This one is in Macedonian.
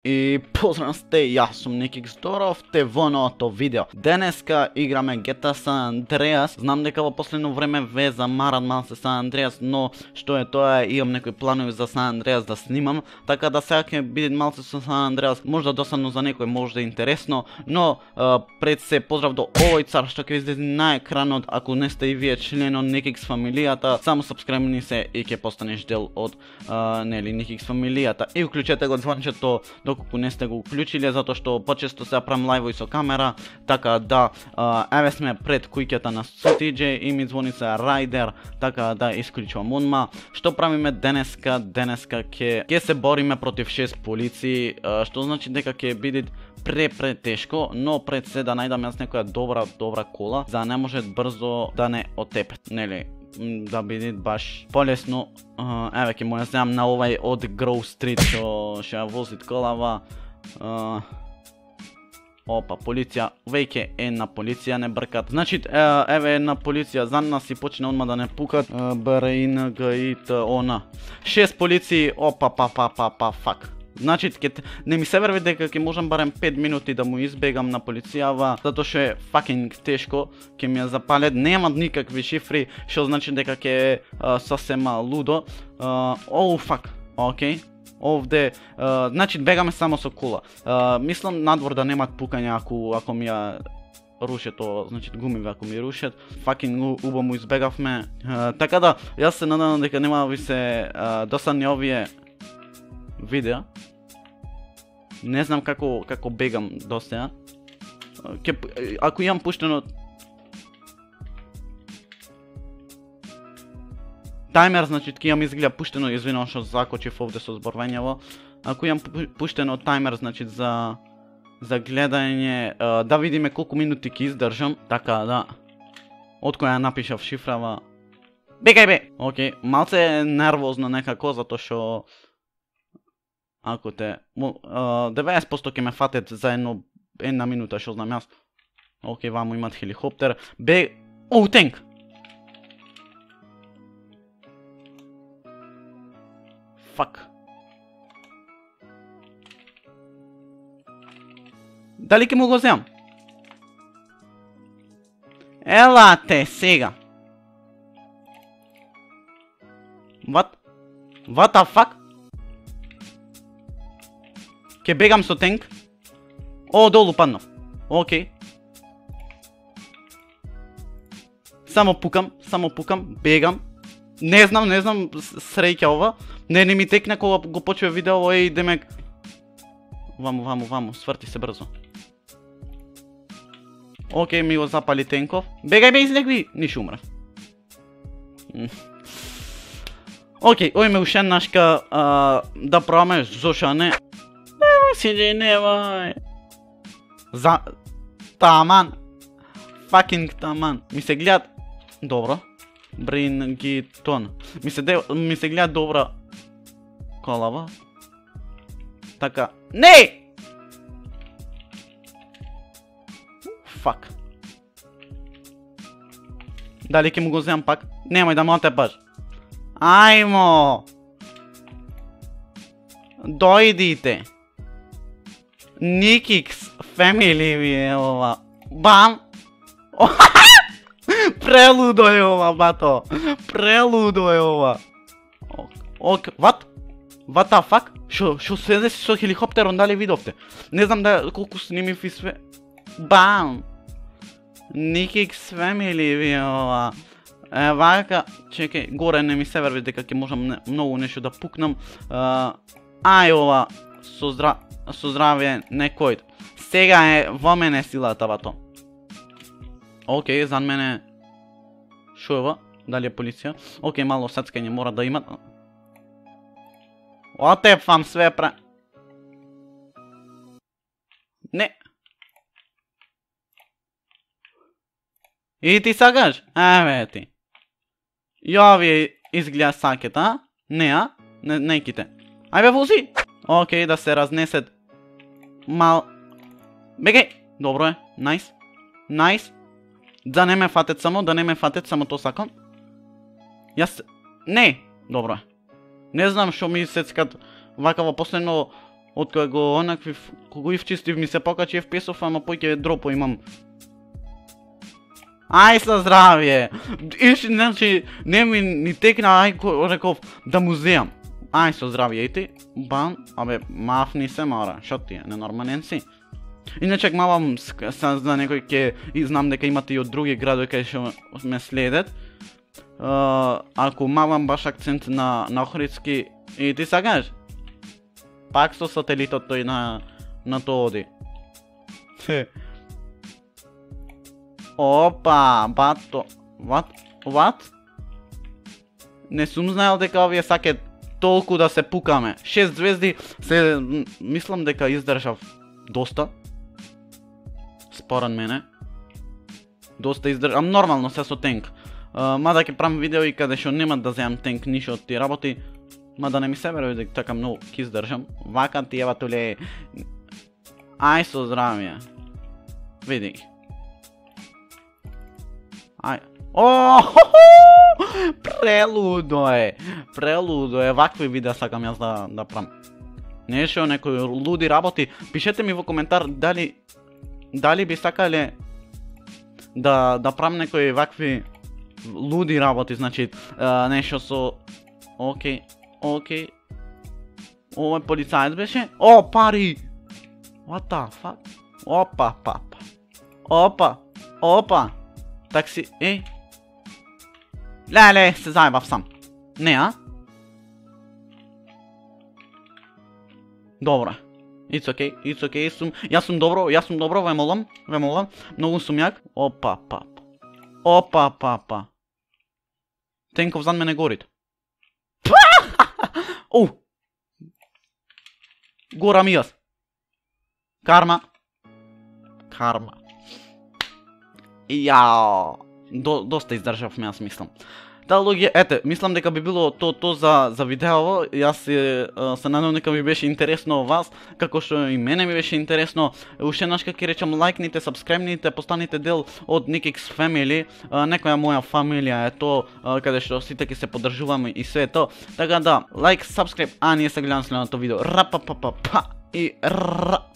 И поздрав сте, јас сум Ники Здоров, те во новото видео. Денеска играме GTA San Andreas. Знам дека во последно време ве замаран малце San Andreas, но што е тоа, имам некои планови за San Andreas да снимам, така да сега ќе биде малце со San Andreas, можда досадно за некој, можда интересно, но пред се поздрав до овој цар што ќе излезе на екранот. Ако не сте и вие член од Nikix фамилијата, само сабскрајбни се и ќе постанеш дел од нели Nikix фамилијата. И уклучете го звончето доколку не сте го уклучиле, затоа што почесто се правам лајвови со камера, така да еве сме пред куќата на TJ и ми звони се Райдер, така да исклучувам одма. Што правиме денеска? Денеска ќе се бориме против 6 полиции, што значи дека ќе биде претешко, но пред се да најдам јас некоја добра кола, за да не може брзо да не отепет, нели? Да биде баш полесно. Еве ќе му ја земам на овај од Grove Street што ја вози колава. Опа, полиција, веќе една полиција не бркат. Значи, еве една полиција за нас и почне одма да не пукат. БРИНГИТОН. 6 полиции, опа, фак. Значи, не ми се верви дека ќе можам барем 5 минути да му избегам на полицијава, затоа што е факинг тешко, ќе ми ја запалет, нема никакви шифри, што значи дека ќе е сосема лудо. Фак, окей. Овде, значи бегаме само со кола. Мислам надвор да немат пукања ако ми ја рушат тоа, значи гумиве ако ми рушат. Факинг убаво му избегавме. Така да, јас се надевам дека нема ви се досадни овие видеа. Не знам како бегам до сега. Ако имам пуштено таймер, значи ќе имам изгледа пуштено, извинувам што закочив овде со зборувањево. Ако имам пуштено таймер, значи за гледање, да видиме колку минути ќе издржам, така да. Од која напишав шифрава. Бегај бе. Океј, малце нервозно некако затоа што ако те 90% ќе ме фатет за една минута, што знам јас. Океј, ваму имат хеликоптер. Тенк! Фак. Дали ќе му го земам? Ела те сега. What the fuck? Ќе бегам со тенк. Долу паднав. Океј. Само пукам, бегам. Не знам, среќа ова. Не ми текне кога го почува видео, демек. Ваму, сврти се брзо. Океј, ми го запали тенков. Бегај бе, излегви, ниш умрев. Океј, ој ме ушен нашка да пробаме, зошто не. Немај. Таман. Факинг таман. Ми се гледат добро. Брингитон. Ми се гледа добра колава. Така. Не! Фак. Дали ќе му го земам пак? Немај да ме отепаш. Ајмо! Дојдите. Nikix Family ви е ова. Бам! Прелудо е ова, бато. Прелудо е ова. What? What the fuck? Шо се деси со хеликоптерон, дали видовте? Не знам колку снимив и све. Бам! Nikix Family ви е ова. Вака, чекај, горе не ми се верви дека ќе можам многу нешто да пукнам. Ај ова, со здравие некој. Сега е во мене силата, бато. Океј, зад мене. Шо е ова? Дали е полиција? Океј, мало сацкање мора да имат. Отепфам све Не. И ти сакаш? Еве ти. Ја ви изгледа сакет, а? Не, Не ките. Ајбе, вози! Океј, да се разнесет. Бегај! Добро е, најс. Да не ме фатет само тоа сакам. Не! Добро е. Не знам што ми сецкат вака во последно Од кога го онакви кога ивчистив ми се покачи FPS-ов, ама поќе дропо имам. Ај со здравје. Значи не ми ни текна, реков да му земам. Ај со здравје и ти. Бам, абе мафни се мора. Шо ти е, ненормален си. Иначе мавам за некој ке и знам дека имате и од други градови кај што ме следат. Ако мавам баш акцент на Охридски и ти сакаш? Пак со сателитот тој на тоа оди. Опа, бато. What? Не сум знаел дека овие сакат толку да се пукаме. 6 звезди се мислам дека издржав доста. Според мене. Доста издржам нормално се со тенк. Мада ќе правам видео и каде што нема да земам тенк ништо од тие работи. Мада не ми се верува дека така многу ќе издржам. Вака ти ева толе. Ај со здравје. Види ги. Ај. Прелудо е, вакви видеа сакам јас да правам. Не шо некои луди работи, пишете ми во коментар дали би сакале да правам некои вакви луди работи, значи нешто со окей. Овој полицаец беше? О, пари! What the fuck? Опа. Такси, Леле, се заебав сам. Не, а? Добро. It's okay. Јас сум добро, ве молам. Многу сум јак. Опа. Тенков зад мене горит. Горам и јас. Карма. Јао. Доста издржав ме, јас мислам. Луѓе, ете, мислам дека би било то за видеово. Јас се надевам дека ви беше интересно вас, како што и мене ми беше интересно. Уште еднаш ќе речам, лајкните, сабскрајбните, постаните дел од Nikix Family. Некоја моја фамилија е то, каде што сите ќе се поддржуваме и све то. Така да, лајк, сабскрајб, а ние се гледаме следното видео. Ра па па па па и ра.